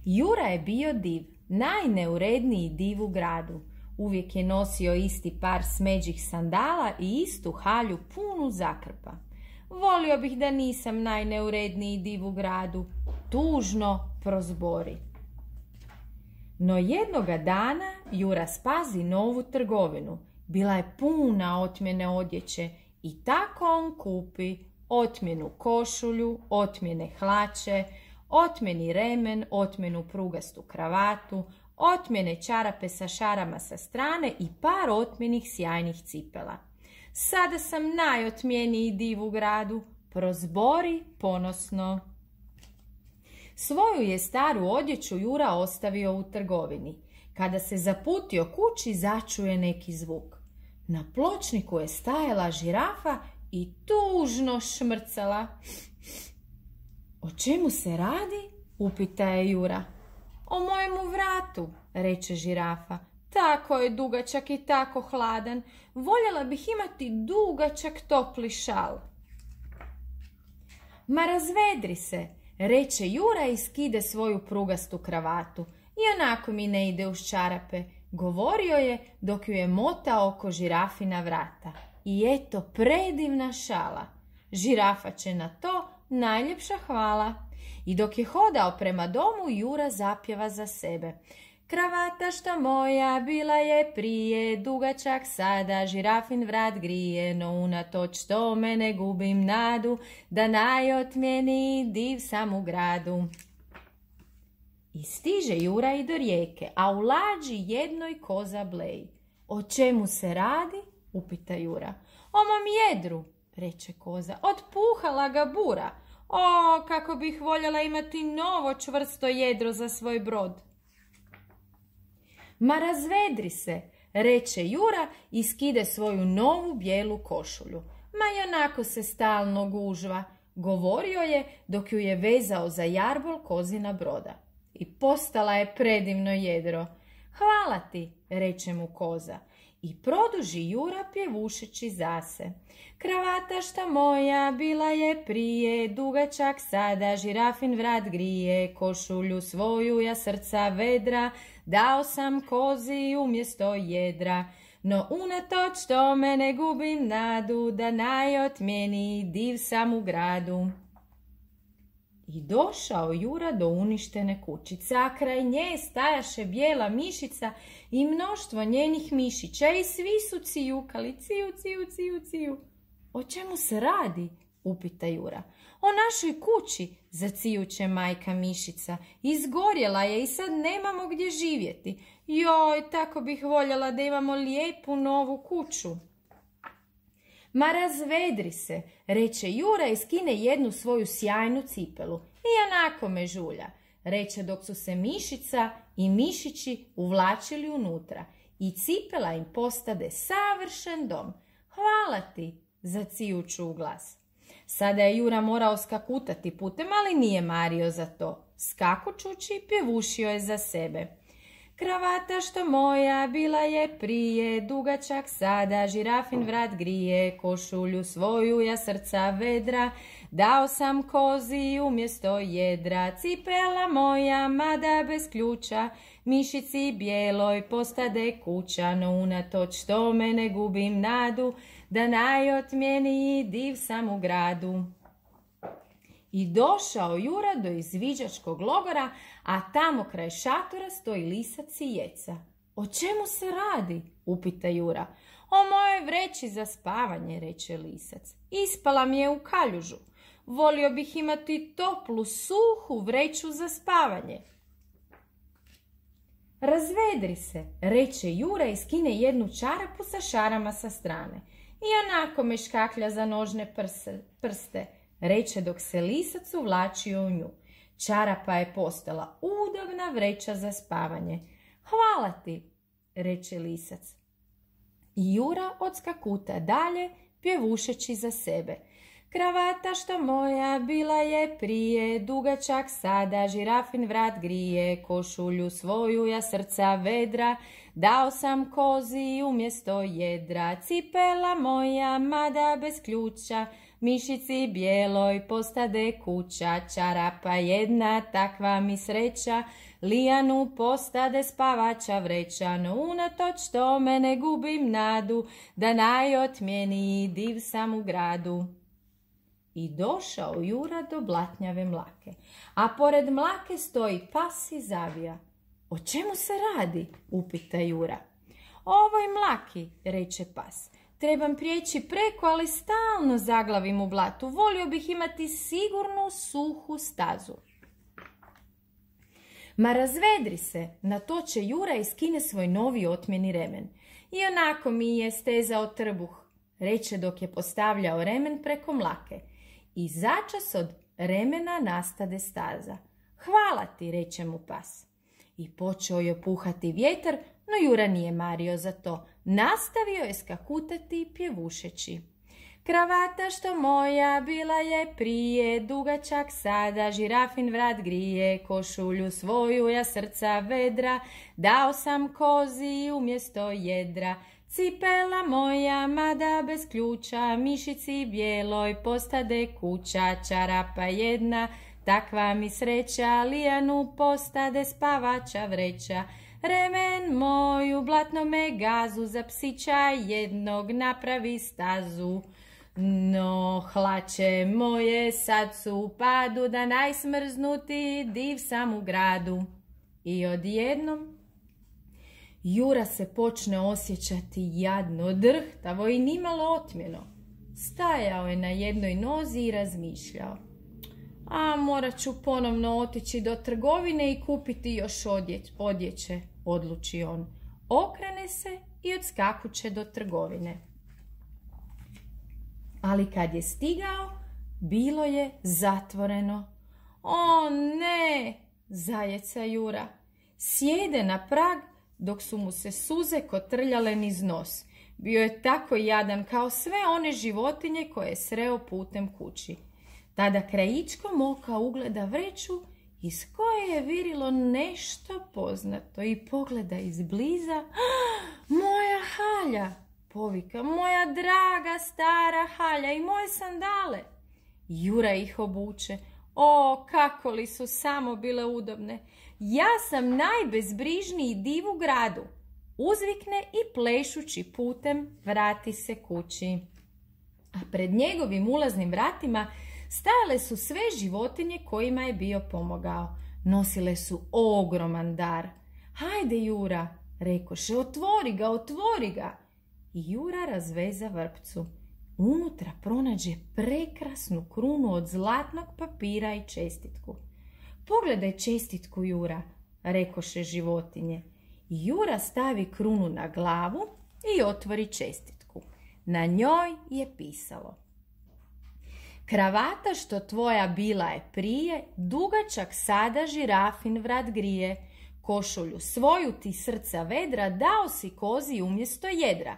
Jura je bio div, najneuredniji div u gradu. Uvijek je nosio isti par smeđih sandala i istu halju punu zakrpa. Volio bih da nisam najneuredniji div u gradu, tužno prozbori. No jednoga dana Jura spazi novu trgovinu. Bila je puna otmjene odjeće i tako on kupi otmjenu košulju, otmjene hlače, otmjeni remen, otmjenu prugastu kravatu, otmjene čarape sa šarama sa strane i par otmjenih sjajnih cipela. Sada sam najotmjeniji div u gradu, prozbori ponosno. Svoju je staru odjeću Jura ostavio u trgovini. Kada se zaputio kući, začuje neki zvuk. Na pločniku je stajala žirafa i tužno šmrcala. O čemu se radi? Upita je Jura. O mojemu vratu, reče žirafa. Tako je dugačak i tako hladan. Voljela bih imati dugačak topli šal. Ma razvedri se, reče Jura i skide svoju prugastu kravatu. Ionako mi ne ide uz čarape, govorio je dok ju je motao oko žirafina vrata. I eto predivna šala. Žirafa će na to najljepša hvala. I dok je hodao prema domu, Jura zapjeva za sebe. Kravata što moja bila je prije, dugačak sada žirafin vrat grije, no unatoč tome ne gubim nadu, da najotmjeniji div sam u gradu. I stiže Jura i do rijeke, a u lađi jednoj koza bleji. O čemu se radi? Upita Jura. O mom jedru, reče koza, otpuhala ga bura. O, kako bih voljela imati novo čvrsto jedro za svoj brod. Ma razvedri se, reče Jura i skide svoju novu bijelu košulju. Ma ionako se stalno gužva, govorio je dok ju je vezao za jarbol kozina broda. I postala je predivno jedro. Hvala ti, reče mu koza. I produži Jura pjevušeći zase. Kravata šta moja bila je prije, dugačak sada žirafin vrat grije, košulju svoju ja srca vedra, dao sam kozi umjesto jedra. No unatoč tome ne gubim nadu, da najotmjeniji div sam u gradu. I došao Jura do uništene kućice, a kraj nje stajaše bijela mišica i mnoštvo njenih mišića i svi su cijukali, ciju, ciju, ciju, ciju. O čemu se radi? Upita Jura. O našoj kući, zacijuće majka mišica. Izgorjela je i sad nemamo gdje živjeti. Joj, tako bih voljela da imamo lijepu novu kuću. Ma razvedri se, reče Jura i skine jednu svoju sjajnu cipelu. Ionako me žulja, reče dok su se mišica i mišići uvlačili unutra. I cipela im postade savršen dom. Hvala ti, zacijuću u glas. Sada je Jura morao skakutati putem, ali nije mario za to. Skakućući pjevušio je za sebe. Kravata što moja bila je prije, dugačak sada žirafin vrat grije, košulju svoju ja srca vedra, dao sam kozi umjesto jedra, cipela moja mada bez ključa, mišici bijeloj postade kuća, no unatoč tome ne gubim nadu, da najotmjeniji div sam u gradu. I došao Jura do izviđačkog logora, a tamo kraj šatora stoji lisac i jeca. O čemu se radi? Upita Jura. O mojoj vreći za spavanje, reče lisac. Ispala mi je u kaljužu. Volio bih imati toplu, suhu vreću za spavanje. Razvedri se, reče Jura i skine jednu čarapu sa šarama sa strane. Ionako me škaklja za nožne prste, reče dok se lisac uvlačio u nju. Čarapa je postala udobna vreća za spavanje. Hvala ti, reče lisac. I Jura odskakuta dalje, pjevušeći za sebe. Kravata što moja bila je prije, dugačak sada žirafin vrat grije, košulju svoju ja srca vedra, dao sam kozi umjesto jedra, cipela moja mada bez ključa, mišici bijeloj postade kuća, čarapa jedna takva mi sreća, lijanu postade spavača vreća, no unatoč tome ne gubim nadu, da najotmjeniji div sam u gradu. I došao Jura do blatnjave mlake, a pored mlake stoji pas i zavija. O čemu se radi? Upita Jura. Ovoj mlaki, reče pas. Trebam prijeći preko, ali stalno zaglavim u blatu. Volio bih imati sigurnu, suhu stazu. Ma razvedri se, na to će Jura i skine svoj novi otmjeni remen. I onako mi je stezao trbuh, reče dok je postavljao remen preko mlake. I začas od remena nastade staza. Hvala ti, reče mu pas. I počeo je puhati vjetar, no Jura nije mario za to. Nastavio je skakutati pjevušeći. Kravata što moja bila je prije, dugačak sada žirafin vrat grije, košulju svoju ja srca vedra, dao sam kozi umjesto jedra. Cipela moja, mada bez ključa, mišici bijeloj postade kuća, čarapa jedna, takva mi sreća, lijanu postade spavača vreća. Remen moj u blatnome gazu, za psića jednog napravi stazu. No, hlače moje sad su u padu, da najsmrznuti div sam u gradu. I odjednom Jura se počne osjećati jadno, drhtavo i nimalo otmjeno. Stajao je na jednoj nozi i razmišljao. A morat ću ponovno otići do trgovine i kupiti još odjeće, odluči on. Okrene se i odskakuće do trgovine. Ali kad je stigao, bilo je zatvoreno. O ne, zajeca Jura. Sjede na prag dok su mu se suze kotrljale niz nos. Bio je tako jadan kao sve one životinje koje je sreo putem kući. Tada krajičkom oka ugleda vreću iz koje je virilo nešto poznato i pogleda izbliza. Moja halja, povika, moja draga stara halja i moje sandale. Jura ih obuče. O, kako li su samo bile udobne. Ja sam najbezbrižniji div u gradu. Uzvikne i plešući putem vrati se kući. A pred njegovim ulaznim vratima stajale su sve životinje kojima je bio pomogao. Nosile su ogroman dar. Hajde, Jura, rekoše, otvori ga, otvori ga. I Jura razveza vrpcu. Unutra pronađe prekrasnu krunu od zlatnog papira i čestitku. Pogledaj čestitku, Jura, rekoše životinje. I Jura stavi krunu na glavu i otvori čestitku. Na njoj je pisalo: kravata što tvoja bila je prije, dugačak sada žirafin vrat grije. Košulju svoju ti srca vedra, dao si kozi umjesto jedra.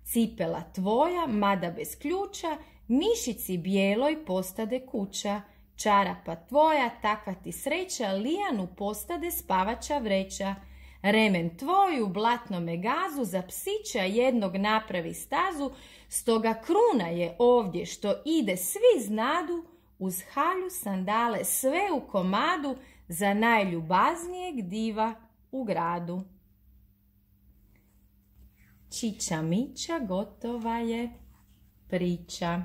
Cipela tvoja, mada bez ključa, mišici bijeloj postade kuća. Čarapa tvoja, takva ti sreća, lijanu postade spavača vreća. Remen tvoj u blatnome gazu, za psića jednog napravi stazu, stoga kruna je ovdje što ide svi znadu, uz halju sandale sve u komadu, za najljubaznijeg diva u gradu. Čiča miča, gotova je priča.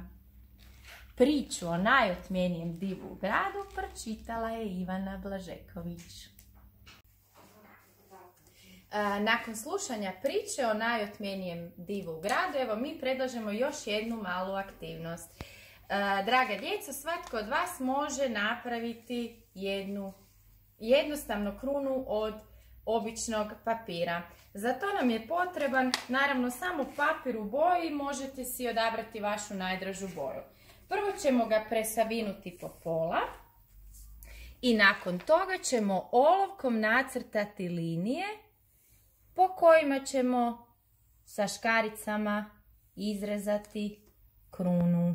Priču o najotmjenijem divu u gradu pročitala je Ivana Blažeković. Nakon slušanja priče o najotmjenijem divu u gradu, evo mi predlažemo još jednu malu aktivnost. Draga djeco, svatko od vas može napraviti jednu jednostavnu krunu od običnog papira. Za to nam je potreban, naravno, samo papir u boji, možete si odabrati vašu najdražu boju. Prvo ćemo ga presavinuti po pola i nakon toga ćemo olovkom nacrtati linije po kojima ćemo sa škaricama izrezati krunu.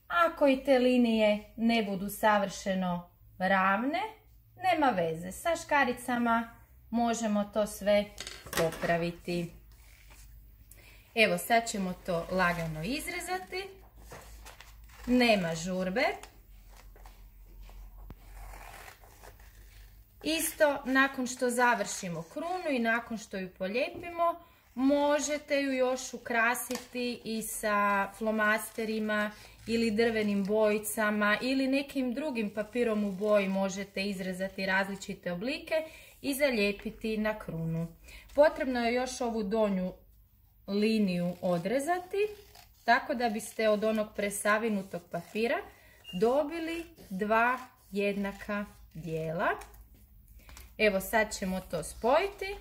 Ako i te linije ne budu savršeno ravne, nema veze, sa škaricama možemo to sve popraviti. Evo, sad ćemo to lagano izrezati. Nema žurbe. Isto nakon što završimo krunu i nakon što ju polijepimo, možete ju još ukrasiti i sa flomasterima ili drvenim bojicama ili nekim drugim papirom u boji. Možete izrezati različite oblike i zalijepiti na krunu. Potrebno je još ovu donju liniju odrezati, tako da biste od onog presavinutog papira dobili dva jednaka dijela. Evo sad ćemo to spojiti.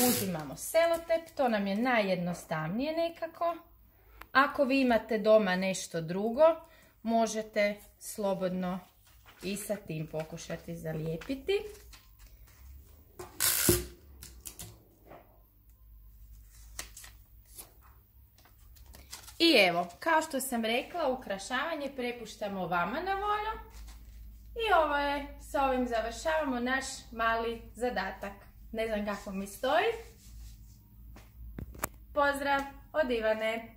Uzimamo selotep, to nam je najjednostavnije nekako. Ako vi imate doma nešto drugo, možete slobodno i sa tim pokušati zalijepiti. I evo, kao što sam rekla, ukrašavanje prepuštamo vama na volju. I ovo je, sa ovim završavamo naš mali zadatak. Ne znam kako mi stoji. Pozdrav od Ivane.